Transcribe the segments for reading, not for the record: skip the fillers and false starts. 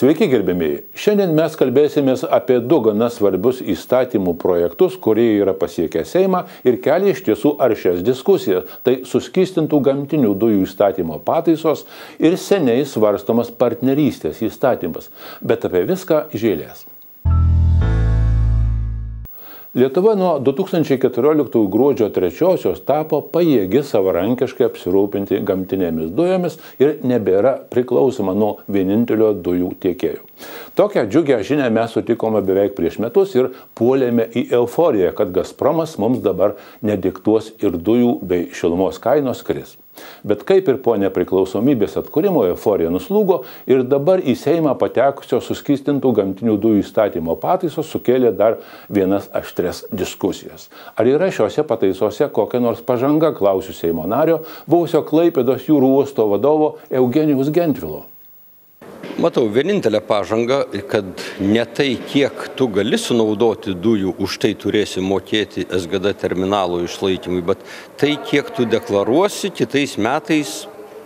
Sveiki gerbėmėjai. Šiandien mes kalbėsimės apie du gana svarbius įstatymų projektus, kurie yra pasiekę Seimą ir kelia iš tiesų aršias diskusijas. Tai suskystintų gamtinių dujų įstatymo pataisos ir seniai svarstomas partnerystės įstatymas. Bet apie viską iš eilės. Lietuva nuo 2014 gruodžio 3-osios tapo pajėgi savarankiškai apsirūpinti gamtinėmis dujomis ir nebėra priklausoma nuo vienintelio dujų tiekėjo. Tokią džiugią žinią mes sutikome beveik prieš metus ir puolėme į euforiją, kad Gazpromas mums dabar nediktuos ir dujų bei šilumos kainos kris. Bet kaip ir po nepriklausomybės atkūrimo euforija nuslūgo ir dabar į Seimą patekusio suskystintų gamtinių dujų įstatymo pataisos sukėlė dar vienas aštrias diskusijas. Ar yra šiuose pataisose kokia nors pažanga, klausiu Seimo nario, buvusio Klaipėdos jūrų uosto vadovo Eugenijaus Gentvilo. Matau vienintelę pažangą, kad ne tai, kiek tu gali sunaudoti dujų, už tai turėsi mokėti SGD terminalo išlaikymui, bet tai, kiek tu deklaruosi kitais metais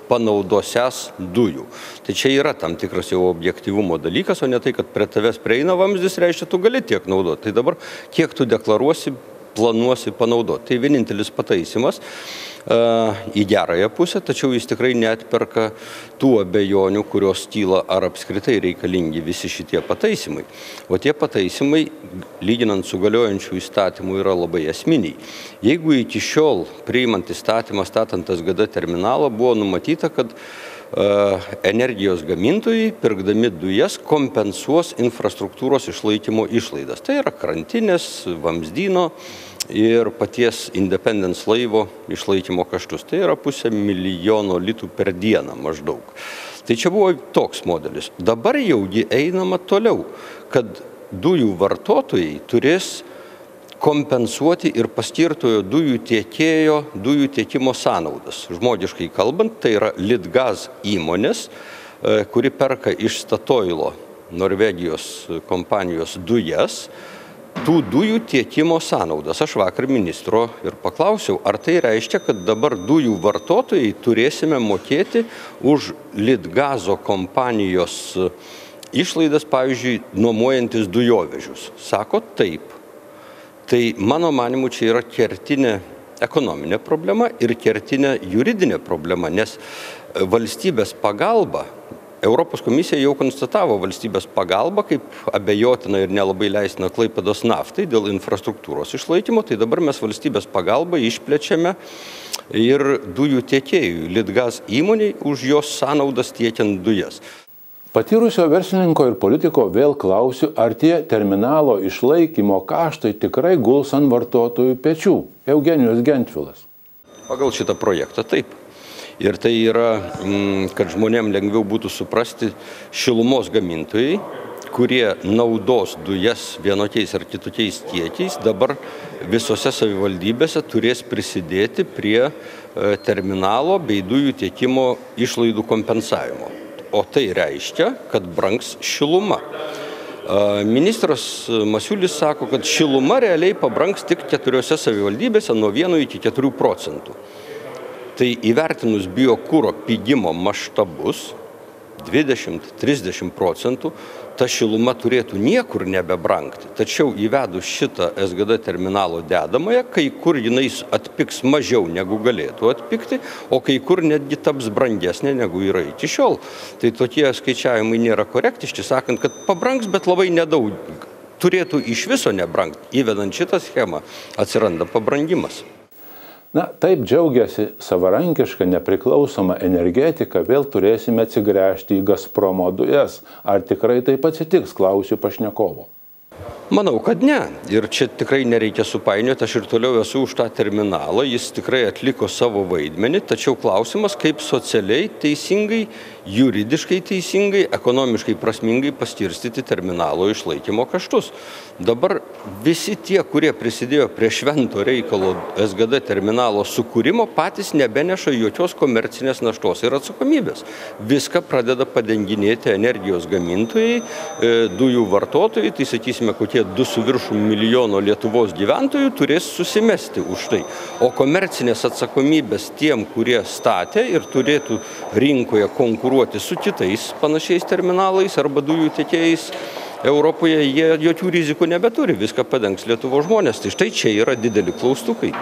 panaudosias dujų. Tai čia yra tam tikras jau objektyvumo dalykas, o ne tai, kad prie tavęs prieina vamzdis, reiškia, tu gali tiek naudoti. Tai dabar, kiek tu deklaruosi, planuosi panaudoti. Tai vienintelis pataisimas į gerąją pusę, tačiau jis tikrai neatperka tų abejonių, kurios kyla, ar apskritai reikalingi visi šitie pataisimai. O tie pataisimai, lyginant su galiojančiu įstatymu, yra labai esminiai. Jeigu iki šiol priimant įstatymą statant SGD terminalą buvo numatyta, kad energijos gamintojai, pirkdami dujas, kompensuos infrastruktūros išlaikymo išlaidas. Tai yra krantinės, vamzdyno ir paties Independence laivo išlaikymo kaštus. Tai yra 500 000 litų per dieną maždaug. Tai čia buvo toks modelis. Dabar jaugi einama toliau, kad dujų vartotojai turės kompensuoti ir paskirtojo dujų tiekėjo dujų tiekimo sąnaudas. Žmogiškai kalbant, tai yra Litgaz įmonės, kuri perka iš Statoilo, Norvegijos kompanijos dujas, tų dujų tiekimo sąnaudas. Aš vakar ministro ir paklausiau, ar tai reiškia, kad dabar dujų vartotojai turėsime mokėti už Litgazo kompanijos išlaidas, pavyzdžiui, nuomojantis dujovežius. Sako taip. Tai mano manimu čia yra kertinė ekonominė problema ir kertinė juridinė problema, nes valstybės pagalba, Europos komisija jau konstatavo valstybės pagalbą kaip abejotina ir nelabai leistina Klaipėdos naftai dėl infrastruktūros išlaikymo, tai dabar mes valstybės pagalbą išplečiame ir dujų tiekėjui, Litgaz įmoniai, už jos sąnaudas tiekiant dujas. Patyrusio verslininko ir politiko vėl klausiu, ar tie terminalo išlaikymo kaštai tikrai guls ant vartotojų pečių. Eugenijus Gentvilas. Pagal šitą projektą taip. Ir tai yra, kad žmonėm lengviau būtų suprasti, šilumos gamintojai, kurie naudos dujas vienokiais ar kitokiais kiekiais, dabar visose savivaldybėse turės prisidėti prie terminalo bei dujų tiekimo išlaidų kompensavimo. O tai reiškia, kad brangs šiluma. Ministras Masiulis sako, kad šiluma realiai pabrangs tik 4 savivaldybėse nuo 1 iki 4%. Tai įvertinus biokuro pigimo maštabus 20–30%, ta šiluma turėtų niekur nebebrangti. Tačiau įvedus šitą SGD terminalo dedamąją, kai kur jinai atpigs mažiau negu galėtų atpigti, o kai kur netgi taps brangesnė negu yra iki šiol. Tai tokie skaičiavimai nėra korektiški, sakant, kad pabrangs, bet labai nedaug. Turėtų iš viso nebrangti. Įvedant šitą schemą atsiranda pabrangimas. Na, taip džiaugiasi savarankiška nepriklausoma energetika, vėl turėsime atsigręžti į Gazpromo dujas. Ar tikrai taip atsitiks, klausiu pašnekovo. Manau, kad ne. Ir čia tikrai nereikia supainioti, aš ir toliau esu už tą terminalą, jis tikrai atliko savo vaidmenį, tačiau klausimas, kaip socialiai teisingai, juridiškai teisingai, ekonomiškai prasmingai paskirstyti terminalo išlaikymo kaštus. Dabar visi tie, kurie prisidėjo prie švento reikalo SGD terminalo sukūrimo, patys nebeneša jokios komercinės naštos ir atsakomybės. Viską pradeda padenginėti energijos gamintojai, dujų vartotojai, tai sakysime, kokie tie 2 su viršum milijono Lietuvos gyventojų turės susimesti už tai. O komercinės atsakomybės tiem, kurie statė ir turėtų rinkoje konkuruoti su kitais panašiais terminalais arba dujų tiekėjais Europoje, jie jokių rizikų nebeturi, viską padengs Lietuvos žmonės. Tai štai čia yra dideli klaustukai.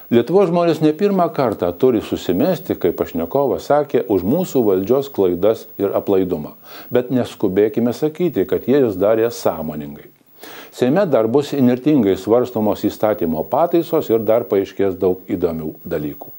Lietuvos žmonės ne pirmą kartą turi susimesti, kaip pašnekovas sakė, už mūsų valdžios klaidas ir aplaidumą. Bet neskubėkime sakyti, kad jie jas darė sąmoningai. Seime dar bus įnirtingai svarstomos įstatymo pataisos ir dar paaiškės daug įdomių dalykų.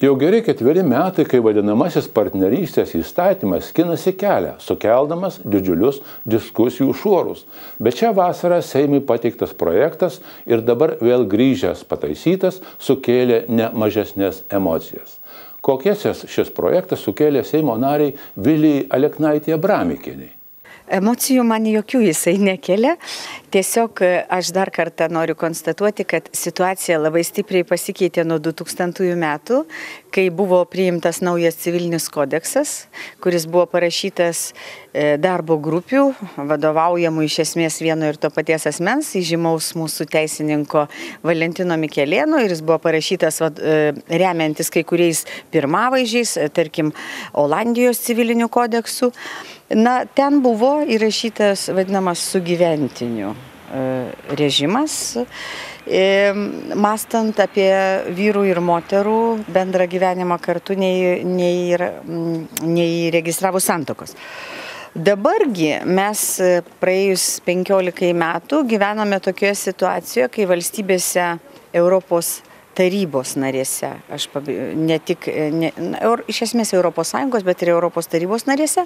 Jau geri 4 metai, kai vadinamasis partnerystės įstatymas skinasi kelią, sukeldamas didžiulius diskusijų šuorus. Bet šią vasarą Seimui pateiktas projektas ir dabar vėl grįžęs pataisytas sukėlė ne mažesnės emocijas. Kokias šis projektas sukėlė Seimo nariai Vilijai Aleknaitei Abramikienei? Emocijų man jokių jisai nekelia. Tiesiog aš dar kartą noriu konstatuoti, kad situacija labai stipriai pasikeitė nuo 2000 metų, kai buvo priimtas naujas civilinis kodeksas, kuris buvo parašytas darbo grupių, vadovaujamų iš esmės vieno ir to paties asmens, įžymaus mūsų teisininko Valentino Mikelėno, ir jis buvo parašytas remiantis kai kuriais pirmavaizdžiais, tarkim, Olandijos civilinių kodeksų. Na, ten buvo įrašytas vadinamas sugyventinių režimas, mąstant apie vyrų ir moterų bendrą gyvenimą kartu neįregistravus santuokos. Dabargi mes praėjus 15 metų gyvename tokioje situacijoje, kai valstybėse Europos tarybos narėse, iš esmės Europos Sąjungos, bet ir Europos tarybos narėse,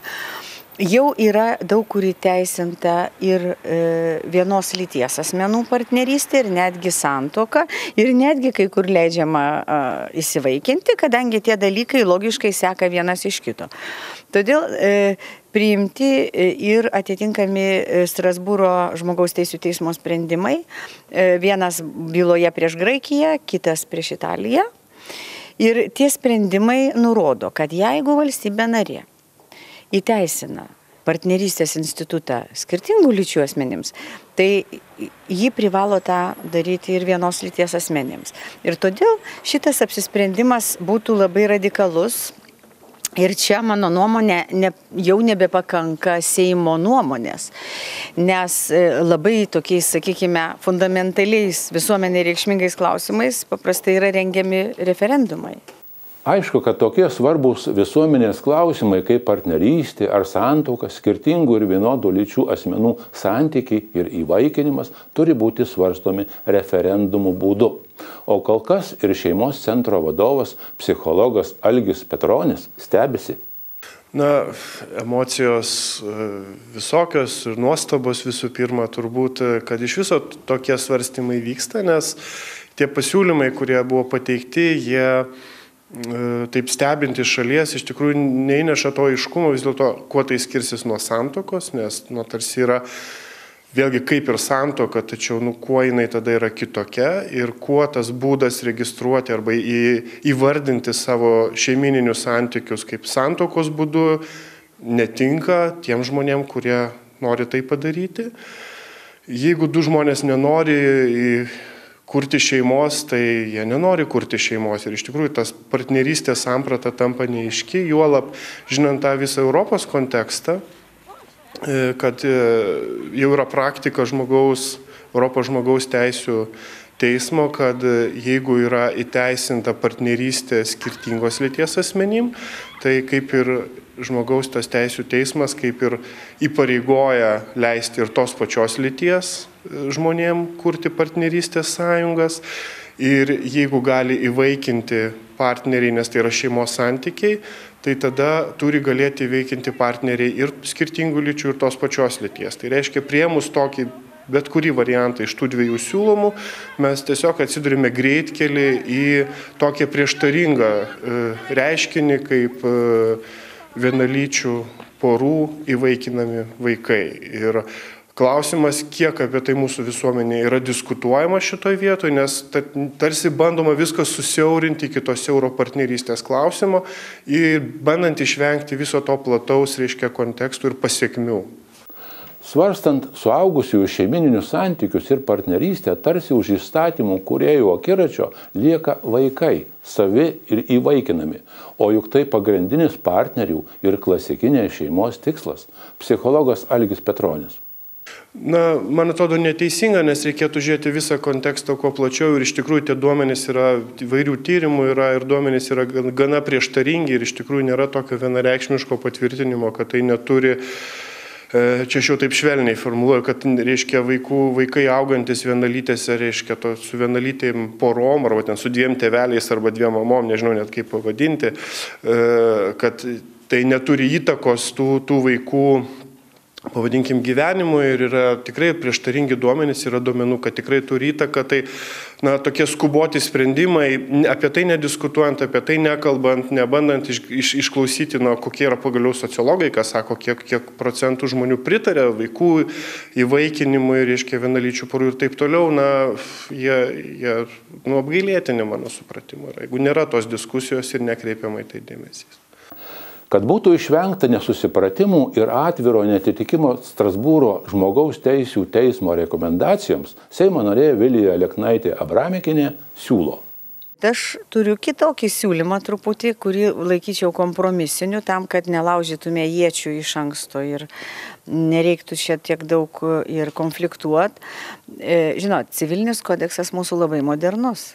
jau yra daug kur įteisinta ir vienos lyties asmenų partnerystė, ir netgi santuoka, ir netgi kai kur leidžiama įsivaikinti, kadangi tie dalykai logiškai seka vienas iš kito. Todėl priimti ir atitinkami Strasbūro žmogaus teisių teismo sprendimai, vienas byloje prieš Graikiją, kitas prieš Italiją. Ir tie sprendimai nurodo, kad jeigu valstybė narė įteisina partnerystės institutą skirtingų lyčių asmenims, tai ji privalo tą daryti ir vienos lyties asmenims. Ir todėl šitas apsisprendimas būtų labai radikalus. Ir čia, mano nuomonė, jau nebepakanka Seimo nuomonės, nes labai tokiais, sakykime, fundamentaliais visuomenei reikšmingais klausimais paprastai yra rengiami referendumai. Aišku, kad tokie svarbus visuomenės klausimai kaip partnerystė ar santuoka, skirtingų ir vienodų lyčių asmenų santykiai ir įvaikinimas turi būti svarstomi referendumų būdu. O kol kas ir šeimos centro vadovas, psichologas Algis Petronis stebisi. Na, emocijos visokios ir nuostabos visų pirma turbūt, kad iš viso tokie svarstymai vyksta, nes tie pasiūlymai, kurie buvo pateikti, jie taip stebinti šalies, iš tikrųjų neįneša to aiškumo vis dėlto, kuo tai skirsis nuo santuokos, nes tarsi yra vėlgi kaip ir santuoka, tačiau kuo jinai tada yra kitokia ir kuo tas būdas registruoti arba įvardinti savo šeimininius santykius kaip santuokos būdu netinka tiem žmonėm, kurie nori tai padaryti. Jeigu du žmonės nenori kurti šeimos, tai jie nenori kurti šeimos. Ir iš tikrųjų tas partnerystės samprata tampa neaiški, juolab žinant tą visą Europos kontekstą, kad jau yra praktika Europos žmogaus teisių teismo, kad jeigu yra įteisinta partnerystė skirtingos lyties asmenim, tai kaip ir žmogaus tas teisių teismas kaip ir įpareigoja leisti ir tos pačios lyties žmonėm kurti partnerystės sąjungas. Ir jeigu gali įvaikinti partneriai, nes tai yra šeimos santykiai, tai tada turi galėti įvaikinti partneriai ir skirtingų lyčių ir tos pačios lyties. Tai reiškia, priėmus tokį bet kurį variantą iš tų dviejų siūlomų, mes tiesiog atsidurime greitkelį į tokią prieštaringą reiškinį kaip vienalyčių porų įvaikinami vaikai. Ir klausimas, kiek apie tai mūsų visuomenė yra diskutuojama šitoj vietoje, nes tarsi bandoma viską susiaurinti iki to siauro partnerystės klausimo ir bandant išvengti viso to plataus, reiškia, kontekstų ir pasiekmių. Svarstant suaugusiųjų šeimininius santykius ir partnerystę, tarsi už įstatymų kūrėjų akiračio lieka vaikai, savi ir įvaikinami. O juk tai pagrindinis partnerių ir klasikinės šeimos tikslas. Psichologas Algis Petronis. Na, man atrodo neteisinga, nes reikėtų žiūrėti visą kontekstą kuo plačiau ir iš tikrųjų tie duomenys yra, įvairių tyrimų yra ir duomenys yra gana prieštaringi ir iš tikrųjų nėra tokio vienareikšmiško patvirtinimo, kad tai neturi, čia aš jau taip švelniai formuluoju, kad reiškia vaikai augantis vienalytėse, reiškia su vienalytėm porom, arba ten su dviem tėveliais arba dviem mamom, nežinau net kaip pavadinti, kad tai neturi įtakos tų vaikų, pavadinkim, gyvenimui ir yra tikrai prieštaringi duomenys, yra duomenų, kad tikrai turi įtaką, tai tokie skuboti sprendimai, apie tai nediskutuojant, apie tai nekalbant, nebandant išklausyti, kokie yra pagaliau sociologai, kas sako, kiek procentų žmonių pritarė vaikų įvaikinimui, reiškia vienalyčių porų ir taip toliau, jie apgailėtini mano supratimu. Jeigu nėra tos diskusijos ir nekreipiamai tai dėmesys. Kad būtų išvengta nesusipratimų ir atviro netitikimo Strasbūro žmogaus teisių teismo rekomendacijoms, Seimo narė Vilija Aleknaitė Abramikienė siūlo. Aš turiu kitokį siūlymą truputį, kurį laikyčiau kompromisiniu, tam, kad nelaužytume iečių iš anksto ir nereiktų šiek tiek daug ir konfliktuoti. Žinot, civilinis kodeksas mūsų labai modernus.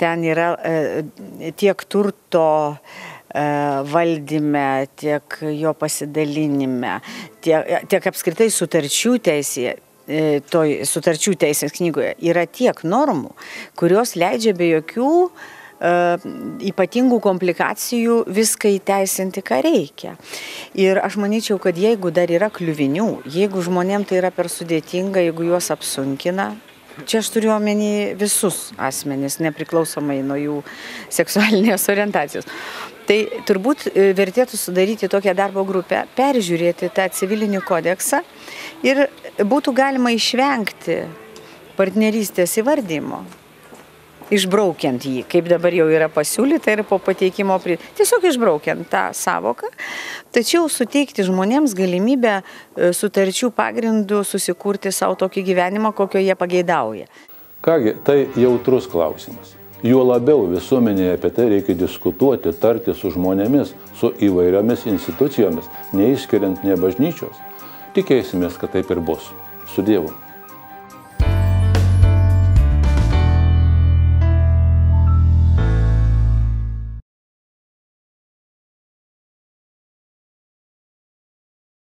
Ten yra tiek turto valdyme, tiek jo pasidalinime, tiek apskritai sutarčių teisėje, sutarčių teisės knygoje yra tiek normų, kurios leidžia be jokių ypatingų komplikacijų viską įteisinti, ką reikia. Ir aš manyčiau, kad jeigu dar yra kliuvinių, jeigu žmonėm tai yra per sudėtinga, jeigu juos apsunkina, čia aš turiu omeny visus asmenis, nepriklausomai nuo jų seksualinės orientacijos. Tai turbūt vertėtų sudaryti tokią darbo grupę, peržiūrėti tą civilinį kodeksą ir būtų galima išvengti partnerystės įvardymo, išbraukiant jį, kaip dabar jau yra pasiūlyta ir po pateikimo, tiesiog išbraukiant tą savoką, tačiau suteikti žmonėms galimybę sutarčių pagrindų susikurti savo tokį gyvenimą, kokio jie pageidauja. Kągi, tai jautrus klausimas. Juo labiau visuomenėje apie tai reikia diskutuoti, tarti su žmonėmis, su įvairiomis institucijomis, neišskiriant nė bažnyčios. Tikėsimės, kad taip ir bus. Su Dievu.